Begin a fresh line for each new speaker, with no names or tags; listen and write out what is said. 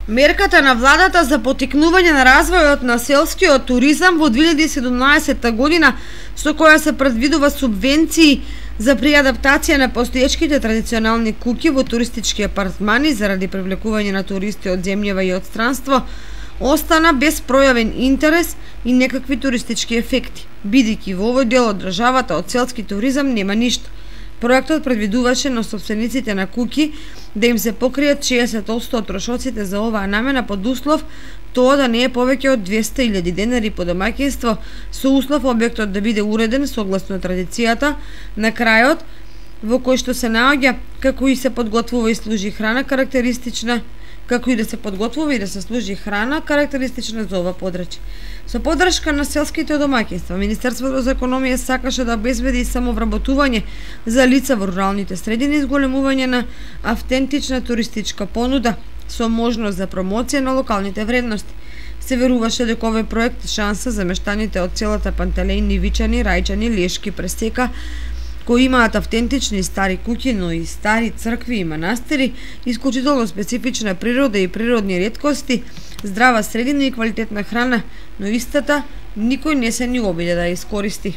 Мерката на владата за поттикнување на развојот на селскиот туризам во 2017 година, со која се предвидува субвенции за преадаптација на постоечките традиционални куќи во туристички апартмани заради привлекување на туристи од земјава и од странство, остана без пројавен интерес и некакви туристички ефекти, бидејќи во овој дел од државата од селски туризам нема ништо. Проектот предвидуваше на собствениците на куќи да им се покријат 60% од трошоците за оваа намена под услов тоа да не е повеќе од 200.000 денари по домаќинство, со услов објектот да биде уреден согласно традицијата на крајот во кој што се наоѓа, како и се подготвува и служи храна карактеристична за ова подрачје. Со поддршка на селските домаќинства, Министерството за економија сакаше да обезбеди самовработување за лица во руралните средини и зголемување на автентична туристичка понуда со можност за промоција на локалните вредности. Се веруваше дека овој проект шанса за мештаните од селата Пантелејни, Вичани, Рајчани, Лешки, Пресека, кои имаат автентични стари куќи, но и стари цркви и манастири, исклучително специфична природа и природни реткости, здрава средина и квалитетна храна, но истата никој не се ни обиде да ја искористи.